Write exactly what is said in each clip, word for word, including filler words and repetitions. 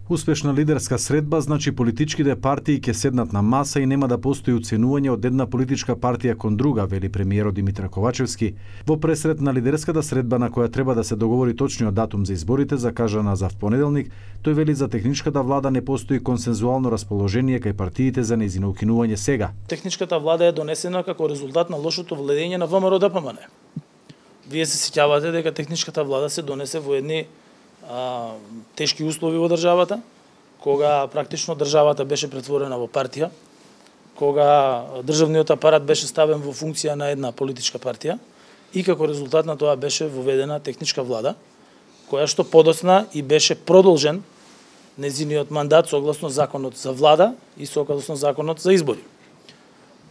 Успешна лидерска средба значи политичките партии ќе седнат на маса и нема да постои уценување од една политичка партија кон друга, вели премиерот Димитар Ковачевски. Во пресред на лидерската средба на која треба да се договори точниот датум за изборите, закажана за понеделник, тој вели за техничката влада не постои консензуално расположение кај партиите за нејзино укинување сега. Техничката влада е донесена како резултат на лошото владење на ВМРО Д П М Н. Вие се сеќавате дека техничката влада се донесе во едни А, тешки услови во државата, кога практично државата беше претворена во партија, кога државниот апарат беше ставен во функција на една политичка партија и како резултат на тоа беше воведена техничка влада, која што подоцна и беше продолжен нејзиниот мандат согласно законот за влада и согласно законот за избори.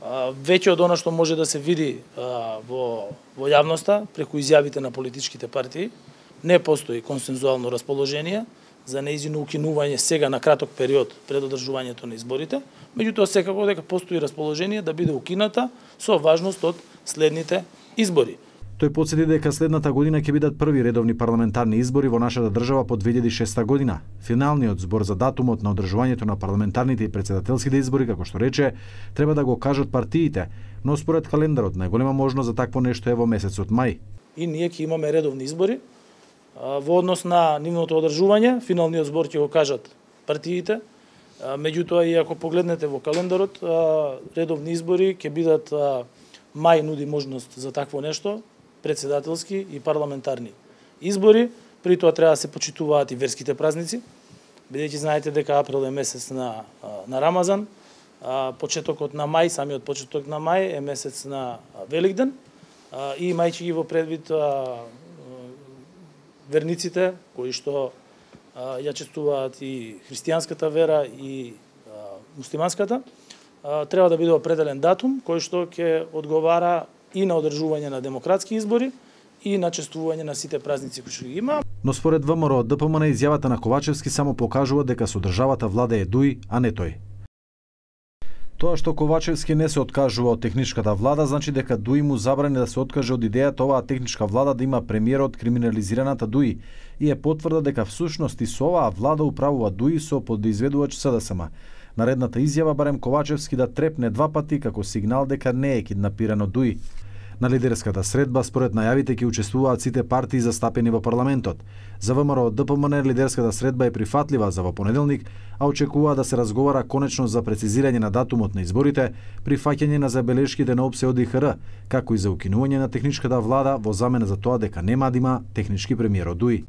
А, веќе од она што може да се види а, во, во јавноста преку изјавите на политичките партии, не постои консензуално расположение за нејзино укинување сега на краток период пред одржувањето на изборите, меѓутоа секако дека постои расположение да биде укината со важност од следните избори. Тој потсети дека следната година ќе бидат први редовни парламентарни избори во нашата држава по две илјади и шеста година. Финалниот збор за датумот на одржувањето на парламентарните и претседателските избори, како што рече, треба да го кажат партиите, но според календарот најголема можност за такво нешто е во месецот мај. И ние ќе имаме редовни избори. Во однос на нивното одржување, финалниот збор ќе го кажат партиите, меѓутоа и ако погледнете во календарот, редовни избори ќе бидат мај нуди можност за такво нешто, претседателски и парламентарни избори, при тоа треба да се почитуваат и верските празници, бидејќи знаете дека април е месец на, на Рамазан, почетокот на мај, самиот почеток на мај е месец на Великден, и имајќи ги во предвид верниците кои што а, ја честуваат и христијанската вера и а, муслиманската, а, треба да биде определен датум кој што ќе одговара и на одржување на демократски избори и на честување на сите празници кои што ги има. Но според ВМРО Д П М Н изјавата на Ковачевски само покажува дека со државата влада е Дуј, а не тој. Тоа што Ковачевски не се откажува од техничката влада, значи дека Дуј му забрани да се откаже од идејата оваа техничка влада да има премиерот криминализираната Дуј и е потврда дека всушност и со оваа влада управува Дуј со подизведувач С Д С М. Наредната изјава барем Ковачевски да трепне два пати како сигнал дека не е киднапирано Дуј. На лидерската средба според најавите ќе учествуваат сите партии застапени во парламентот. За ВМРО Д П М Н лидерската средба е прифатлива за во понеделник, а очекува да се разговара конечно за прецизирање на датумот на изборите, прифаќање на забелешките на О П С Е Од И Х Р, како и за укинување на техничката влада во замена за тоа дека нема да има технички премиер од Дуј.